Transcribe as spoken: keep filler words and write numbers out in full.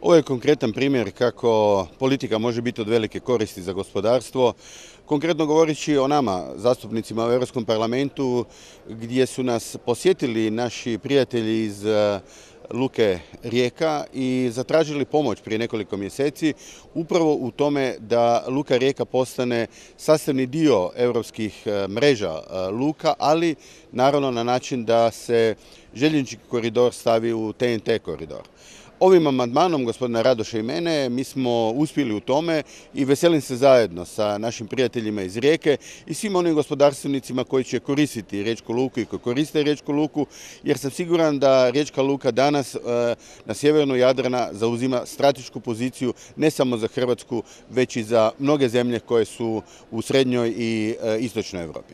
Ovo je konkretan primjer kako politika može biti od velike koristi za gospodarstvo. Konkretno govoreći o nama, zastupnicima u Europskom parlamentu, gdje su nas posjetili naši prijatelji iz Luke Rijeka i zatražili pomoć prije nekoliko mjeseci upravo u tome da Luka Rijeka postane sastavni dio europskih mreža luka, ali naravno na način da se željeznički koridor stavi u T N T koridor. Ovim amandmanom gospodina Radoša i mene mi smo uspjeli u tome i veselim se zajedno sa našim prijateljima iz Rijeke i svim onim gospodarstvenicima koji će koristiti Riječku luku i koji koriste Riječku luku, jer sam siguran da Riječka luka danas na sjevernu Jadrana zauzima stratešku poziciju ne samo za Hrvatsku, već i za mnoge zemlje koje su u srednjoj i istočnoj Europi.